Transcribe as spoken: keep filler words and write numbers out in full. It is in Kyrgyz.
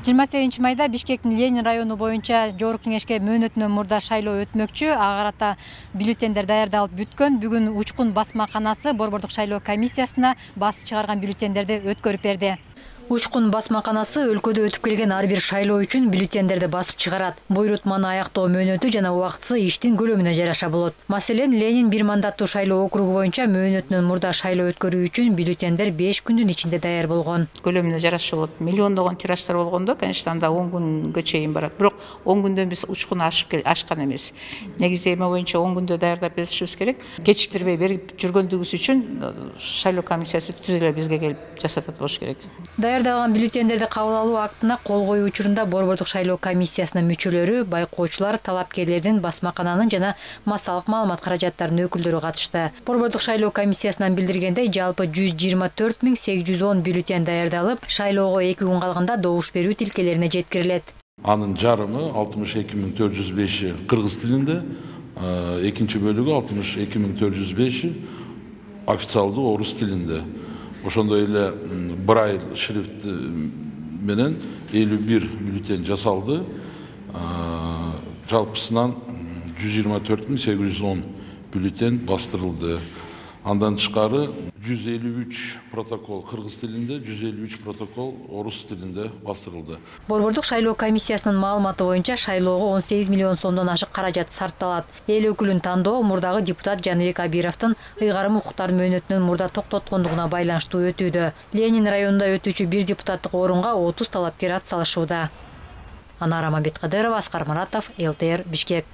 жыйырма сегизинчи майда Бишкектин Ленин району боюнча Жогорку кеңешке мөөнөтүнөн мурда шайлоо өтмөкчү. Ага карата бюллетендер даярдалып бүткөн. Бүгүн Учкун басмаканасы борбордук шайлоо комиссиясына басып чыгарган бюллетендерди өткөрүп берди. Учкун басмаканасы өлкөдө өтүп келген ар бир шайлоо үчүн бюллетендерди басып чыгарат. Буйрутманы аяктоо мөөнөтү жана убактысы иштин көлөмүнө жараша болот. Маселен, Ленин бир мандаттуу шайлоо округу боюнча мөөнөтүнөн мурда шайлоо өткөрүү үчүн бюллетендер беш күндүн ичинде даяр болгон. Көлөмүнө жараша болот. Миллиондогон тираштар болгондо, конечно, анда он күнгө чейин барат. Бирок он күндөн биз учкуну ашып ашкан эмес. Негизи эме боюнча он күндө даярдап беришибиз керек. Кечиктирбей берип жүргөндүгүбүз үчүн шайлоо комиссиясы түз эле бизге келип жасатат болуш керек. Даярдалган бюллетендерди кабыл алуу актына кол коюу учурунда борбордук шайлоо комиссиясынын мүчөлөрү, байкоочулар, талапкерлердин, басмакананын жана массалык маалымат каражаттарынын өкүлдөрү катышты. Борбордук шайлоо комиссиясынан билдиргендей, жалпы жүз жыйырма төрт миң сегиз жүз он бюллетен даярдалып, шайлоого эки күн калганда добуш берүү тилкелерине жеткирилет. Анын жарымы алтымыш эки миң төрт жүз беши кыргыз тилинде, экинчи бөлүгү алтымыш эки миң төрт жүз беши официалдуу орус тилинде. Ошондой эле брайль шрифт менен элүү бир бюллетен жасалды. Жалпысынан жүз жыйырма төрт миң сегиз жүз он бюллетен бастырылды. Андан тышкары жүз элүү үч протокол кыргыз тилинде, жүз элүү үч протокол орус тилинде бастырылды. Борбордук шайлоо комиссиясынын маалыматы боюнча шайлоого он сегиз миллион сомдон ашык каражат сарпталат. Эл өкүлүн тандоо мурдагы депутат Жаныбек Абировдун ыйгарым укуктар мөөнөтүнөн мурда токтоткондугуна байланыштуу өтүүдө. Ленин районунда өтүүчү бир депутаттык орунга отуз талапкер ат салышууда. Анара Мамбеткадырова, Аскар Маратов, эл тэ эр, Бишкек.